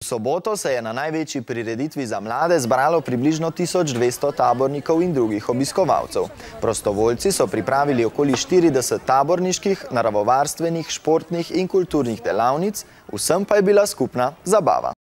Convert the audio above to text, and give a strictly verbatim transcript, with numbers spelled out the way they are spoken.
V soboto se je na največji prireditvi za mlade zbralo približno tisoč dvesto tabornikov in drugih obiskovalcev. Prostovoljci so pripravili okoli štirideset taborniških, naravovarstvenih, športnih in kulturnih delavnic, vsem pa je bila skupna zabava.